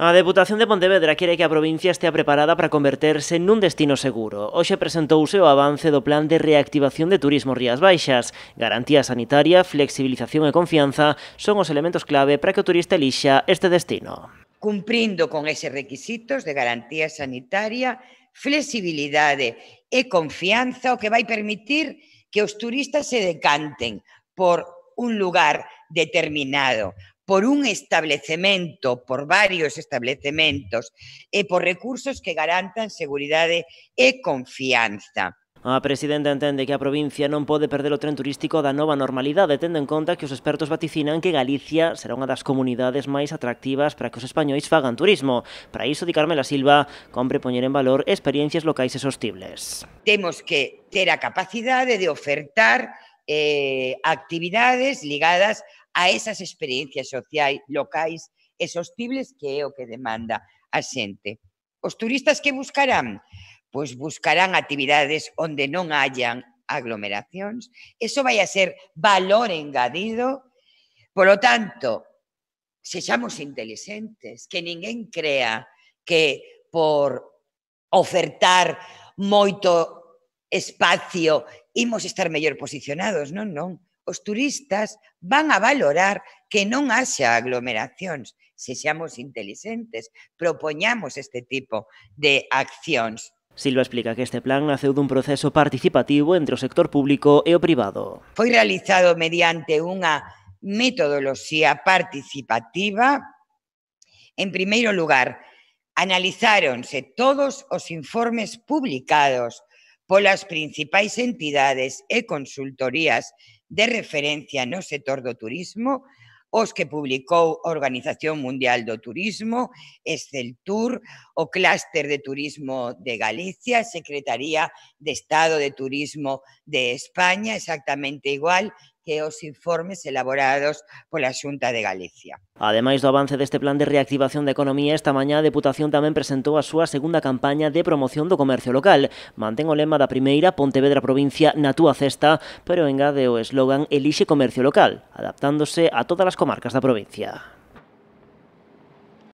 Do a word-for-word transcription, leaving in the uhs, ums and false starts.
A Deputación de Pontevedra quere que a provincia estea preparada para converterse nun destino seguro. Hoxe presentouse o avance do Plan de Reactivación de Turismo Rías Baixas. Garantía sanitaria, flexibilización e confianza son os elementos clave para que o turista elixa este destino. Cumprindo con eses requisitos de garantía sanitaria, flexibilidade e confianza, o que vai permitir que os turistas se decanten por un lugar determinado, por un establecemento, por varios establecementos e por recursos que garantan seguridade e confianza. A presidenta entende que a provincia non pode perder o tren turístico da nova normalidade, tendo en conta que os expertos vaticinan que Galicia será unha das comunidades máis atractivas para que os españois fagan turismo. Para iso, di Carmela Silva, compre poñer en valor experiencias locais e sostibles. Temos que ter a capacidade de ofertar eh, actividades ligadas a esas experiencias sociais, locais e sostibles, que é o que demanda a xente. Os turistas que buscarán? Pois buscarán actividades onde non hayan aglomeracións. Eso vai a ser valor engadido. Polo tanto, sexamos inteligentes, que ninguén crea que por ofertar moito espacio imos estar mellor posicionados. Non, non. Os turistas van a valorar que non haxa aglomeracións. Sexamos inteligentes, propoñamos este tipo de accións. Silva explica que este plan naceu dun proceso participativo entre o sector público e o privado. Foi realizado mediante unha metodoloxía participativa. En primeiro lugar, analizáronse todos os informes publicados polas principais entidades e consultorías de referencia no sector do turismo, os que publicou a Organización Mundial do Turismo, Exceltur, o Clúster de Turismo de Galicia, Secretaría de Estado de Turismo de España, exactamente igual que os informes elaborados pola Xunta de Galicia. Ademais do avance deste plan de reactivación da economía, esta mañá a Deputación tamén presentou a súa segunda campaña de promoción do comercio local. Mantén o lema da primeira, Pontevedra Provincia na túa cesta, pero engade o eslogan Elixe comercio local, adaptándose a todas as comarcas da provincia.